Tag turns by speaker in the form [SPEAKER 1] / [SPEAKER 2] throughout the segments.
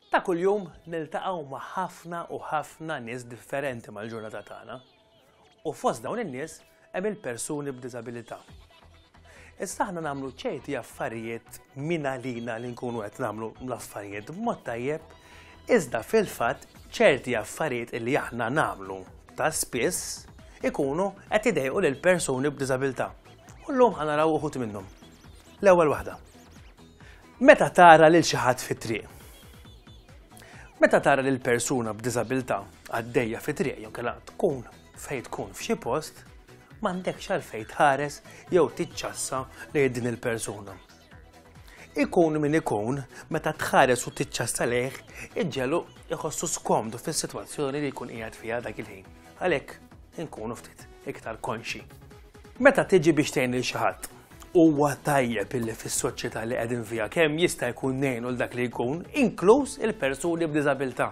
[SPEAKER 1] Ta' kuljum niltaqgħu ma' ħafna u ħafna nies differenti mal-ġurnata tagħna. U fost dawn in-nies hemm il-persuni b'diżabilità. Issa aħna nagħmlu ċerti affarijiet minn għalina li nkunu qed nagħmlu l-affarijiet b'mod tajjeb, iżda fil-fatt ċerti affarijiet li aħna nagħmlu ta' spiss ikunu qed idejqu lil persuni b'diżabilità. U llum ħa naraw uħud minnhom. L-ewwel waħda. Meta tara lil xi ħadd fit-triq. Meta tara lil persuna b'diżabilità għaddejja fit-triq jew kellha tkun fejn tkun f'xi post, m'għandekx għalfejn tħares jew tiċċassa lejn din il-persuna. Ikun min ikun, meta tħares u tiċċassa lejh, iġġelu iħossu skomdu fis-sitwazzjoni li jkun qiegħed fiha dak il-ħin. Għalhekk inkunu ftit iktar konxi. Meta tiġi biex tgħin lil xi ħadd, Huwa tajjeb illi fis-soċjetà li qegħdin fiha kemm jista' jkun ngħinu l dak li jkun, inkluż il-persuni b'diżabilità.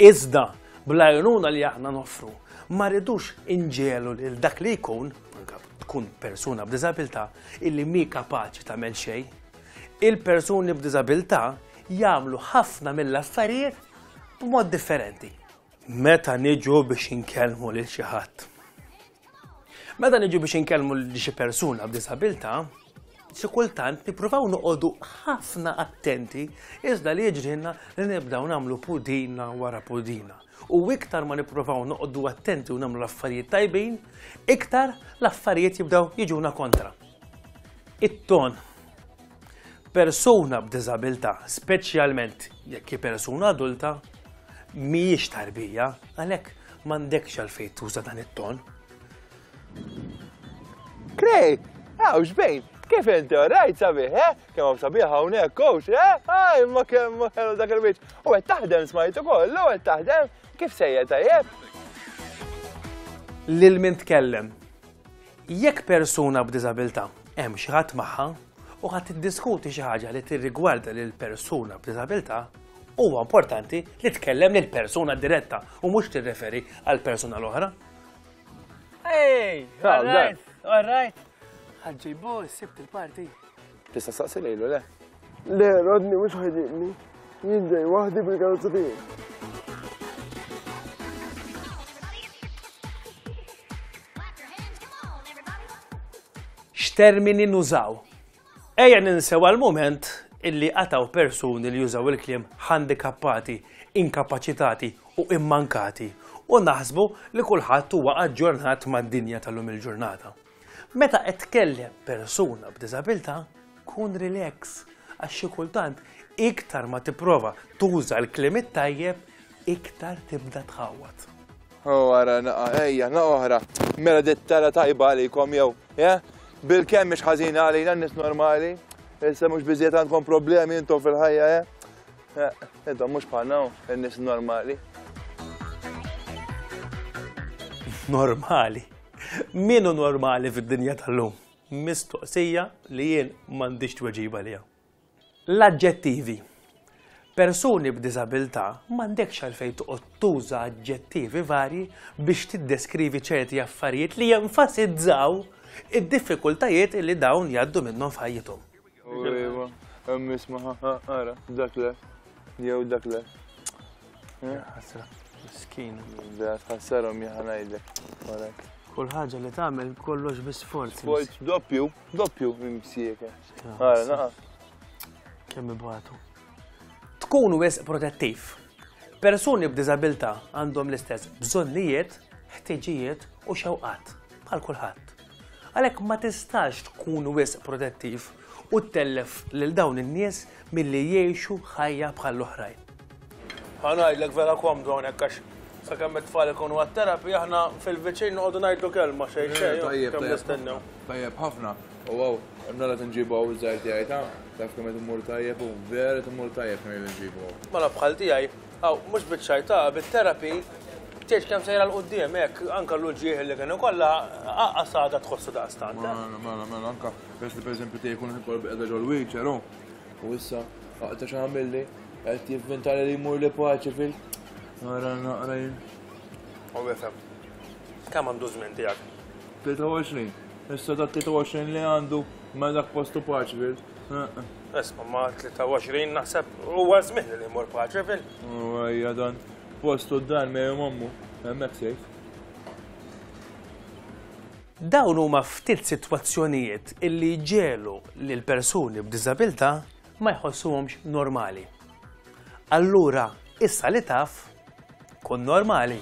[SPEAKER 1] Iżda, bl-għajnuna li aħna noffru, ma rridux inġegħlu lil dak li jkun, anke tkun persuna b'diżabilità, illi mhi kapaċi tagħmel xejn. Il-persuni b'diżabilità jagħmlu ħafna mill-affarijiet b'mod differenti. Meta niġu biex inkellmu lil xi ħadd. Meta niġu biex inkellmu lil xi persuna b'disabilità, xi kultant nippruvaw noqogħdu ħafna attenti iżda li jiġrilna li nibdew nagħmlu pudina wara pudina. U iktar ma nippruvaw noqogħdu attenti u nagħmlu l-affarijiet tajbin, iktar l-affarijiet jibdew jiġuna kontra. It-ton. Persuna b'diżabilità, speċjalment jekk hi persuna adulta, mhijiex tarbija, għalhekk m'għandekx għalfejn tuża dan it-ton.
[SPEAKER 2] Craig, hawn xbejn, kif inti rajt sabiħ, eh? Kemm hawn sabiħ hawnhekk, coach, eh? Aj, ma kemm ħelu dak il-wiċċ. U qed taħdem smajt ukoll, u qed taħdem, kif sejjer tajjeb?
[SPEAKER 1] Lil min tkellem. Jekk persuna b'diżabilità hemm xi ħadd magħha u ħadd tiddiskuti xi ħaġa li tirrigwarda lil persuna b'diżabilità, huwa importanti li tkellem lil persuna diretta u mhux tirreferi għal persuna l-oħra. Hey, all right, all right. Ħaġġibu, sibt il-parti.
[SPEAKER 2] Tista' saqsi lejlu, le?
[SPEAKER 3] Le, Rodney mhux ħajġibni. Jien ġej waħdi bil-karozza tiegħi.
[SPEAKER 1] X'termini nużaw? Ejja ninsew għal mument illi qataw persuni li jużaw il-kliem handikappati, inkapaċitati u immankati u naħsbu li kulħadd huwa aġġornat mad-dinja tal-lum il-ġurnata. Meta qed tkellem persuna b'diżabilità, kun relax għax xi kultant iktar ma tipprova tuża l-kliem it-tajjeb, iktar tibda tħawwad.
[SPEAKER 2] Oh, ara, naqa, ejja, naqa oħra. Mela dit tara tajba għalikom jew, eh? Bil-kemm mhix ħażina għalina n-nies normali. Issa mhux biżejjed għandkom problemi intom fil-ħajja, eh? eh intom mhux bħalna n-nies normali.
[SPEAKER 1] Normali. Min hu normali fid-dinja tal-lum? Mistoqsija li jien m'għandix tweġiba liha. L-aġġettivi. Persuni b'diżabilità m'għandekx għalfejn toqgħod tuża aġġettivi varji biex tiddeskrivi ċerti affarijiet li jenfasizzaw id-diffikultajiet li dawn jgħaddu minnhom f'ħajjithom.
[SPEAKER 2] Iva, hemm isma' ara, dak le, jew dak le.
[SPEAKER 1] Ħasra, miskin.
[SPEAKER 2] Vera tħassarhom jien ngħidlek.
[SPEAKER 1] Kull ħaġa li tagħmel kollox bi sforz.
[SPEAKER 2] Sforz doppju, doppju mimsieke. Ara, naqa.
[SPEAKER 1] Kemm ibatu. Tkun wisq protettiv. Persuni b'diżabilità għandhom l-istess bżonnijiet, ħtiġijiet u xewqat bħal kulħadd. Għalhekk ma tistax tkun wisq protettiv u ttellef lil dawn in-nies milli jgħixu ħajja bħall-oħrajn. Ħa ngħidlek vera komdu hawnhekk għax sakemm it-tfal ikunu għat-terapi aħna fil-viċin noqogħdu ngħidlu kelma xejn xejn.
[SPEAKER 2] Tajjeb,
[SPEAKER 1] kemm nistennew.
[SPEAKER 2] Tajjeb ħafna. U għaw, mela tinġibu għaw iż-żgħir tiegħi ta' taf kemm qed immur tajjeb u vera qed immur tajjeb kemm inġibu għaw.
[SPEAKER 1] Mela bħal tiegħi, għaw mhux biċ-ċajta, bit-terapi tgħidx kemm sejra 'l quddiem hekk anke l-uġigħ li kien ikollha aqqas għadha tħossu daqstant.
[SPEAKER 2] Mela, mela, mela, anke peress li pereżempju tiegħi jkun ikoll qiegħda ġol-wheelchair hu. U issa, aqta' x'għamilli, qed jivvintali li jmur li paċi fil. Nara naqra jien.
[SPEAKER 1] U jifhem. Kemm għandu żmien tiegħek?
[SPEAKER 2] 23. Issa dak 23 li għandu ma dak postu paċi fil.
[SPEAKER 1] Isma' ma' 23 naħseb huwa żmien li jmur Patriville.
[SPEAKER 2] U ejja dan, postu d-dar miegħi u m'ommu, hemmhekk safe.
[SPEAKER 1] Dawn huma ftit sitwazzjonijiet illi jġegħlu lil persuni b'diżabilità ma jħossuhomx normali. Allura, issa li taf, kun normali.